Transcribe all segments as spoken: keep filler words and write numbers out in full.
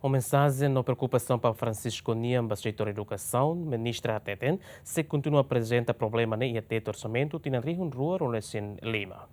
Ho mensajen no preokupasaun Papa Francisco nian ba setór edukasaun, ministra hateten sei kontinua aprezenta problema ne'e iha tetun orsamentu tinan rihun rua ruanulu-resin-lima.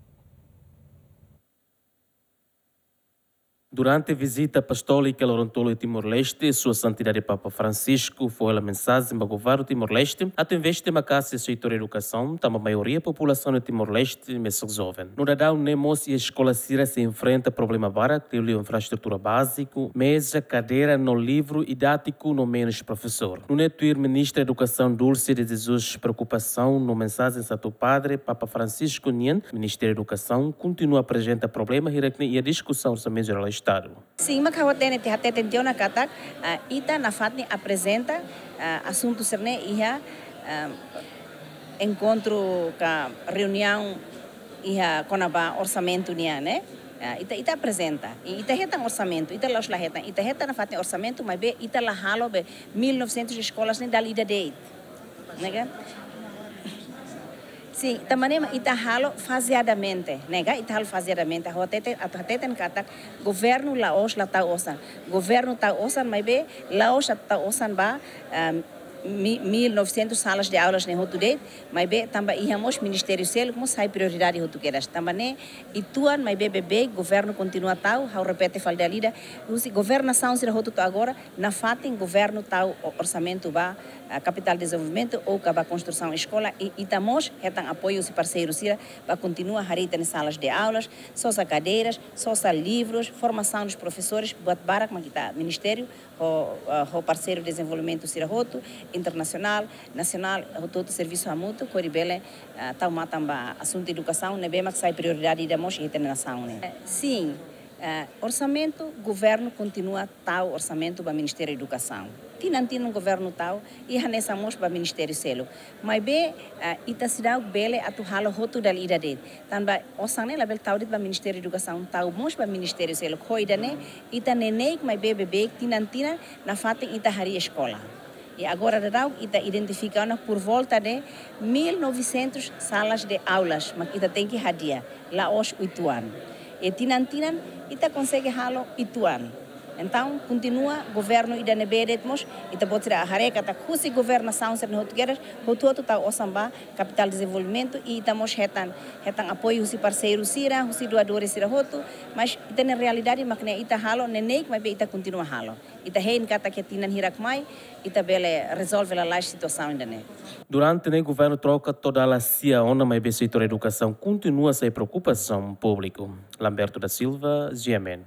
Durante vizita apostólika loron tolu iha Timor-Leste, Sua Santidade Papa Francisco fó hela mensajen ba governu Timor-Leste atu investe maka'as iha setór edukasaun, tanba maioria populasaun iha Timor-Leste mesak joven. No daudaun ne'e mós iha eskola sira sei enfrenta problema barak, liuliu infraestrutura báziku, meza, kadeira no livru didátiku no menus profesór. Nune'e tuir ministra edukasaun Dulce de Jesus preokupasaun no mensajen Santu Padre Papa Francisco nian, Ministériu Edukasaun kontinua aprezenta problema hirak-ne'e iha diskusaun Orsamentu Jerál Estadu. Sin, mak ha'u hatene tiha, hateten tiha ona katak, ah, ita nafatin aprezenta, ah, asuntu sira-ne'e iha, ah, enkontru ka reuniaun iha kona-ba orsamentu nian, ne'e? Ah, ita, ita aprezenta. I ita hetan orsamentu, ita la'ós la hetan. Ita hetan nafatin orsamentu, maibé ita la halo be mil e novecentos eskolas ne'e dala ida de'it. Ne'e ka? Sin, tanba ne'e mak ita halo fazeadamente, ne'e ka? Ita halo fazeadamente. Ha'u hateten, atu hateten katak governu la'ós la tau osan. Governu tau osan, maibé la'ós atu tau osan ba, ah, mi-, mil e novecentos salas de aulas ne'e hotu de'it, maibé tanba iha mós ministériu seluk mós sai prioridade hotu kedas. Tanba ne'e uitoan, maibé beibeik governu kontinua tau, ha'u repete fali dala ida, husi governasaun sira hotu to'o agora, nafatin governu tau o-, orsamentu ba, ah, kapitál dezenvolvimentu ou ka ba konstrusaun eskola, i ita mós hetan apoiu husi parseiru sira ba kontinua harii ita-nia salas de aulas, sosa kadeiras, sosa livrus, formasaun dos profesores, buat barak mak ita ministériu ho, ah, ho parseiru dezenvolvimentu sira hotu, internasionál, nasionál, hotu-hotu servisu hamutuk, hodi bele, ah, tau matan ba asuntu edukasaun, ne'ebé mak sai prioridade ida mós iha ita-nia nasaun ne'e. Eh, sin, eh, orsamentu, governu kontinua tau orsamentu ba Ministériu Edukasaun. Tinan-tinan governu tau, i hanesan mós ba ministériu seluk. Maibé, eh, ita seidauk bele atu halo hotu dala ida de'it. Tanba osan ne'e labele tau de'it ba Ministériu Edukasaun, tau mós ba ministériu seluk. Ho ida-ne'e, ita neineik maibé beibeik tinan-tinan nafatin ita harii eskola. I agora daudaun ita identifika ona por volta de mil e novecentos salas de aulas, mak ita tenke hadi'a, la'ós uitoan. I tinan-tinan ita konsege halo uitoan. Entaun, kontinua governu ida ne'ebé de'it mós, ita-boot sira haree katak husi governasaun sira-ne'e hotu kedas, hotu-hotu tau osan ba kapitál dezenvolvimentu, i ita mós hetan, hetan apoiu husi parseiru sira, husi doadores sira hotu, mas ita-nia realidade mak ne'e, ita halo neineik maibé ita kontinua halo. Ita hein katak iha tinan hirak mai, ita bele rezolve lalais situasaun ida-ne'e. Durante ne'e governu troka to'o dala sia ona, maibé setór edukasaun kontinua sai preokupasaun públiku. Lamberto da Silva, G M N.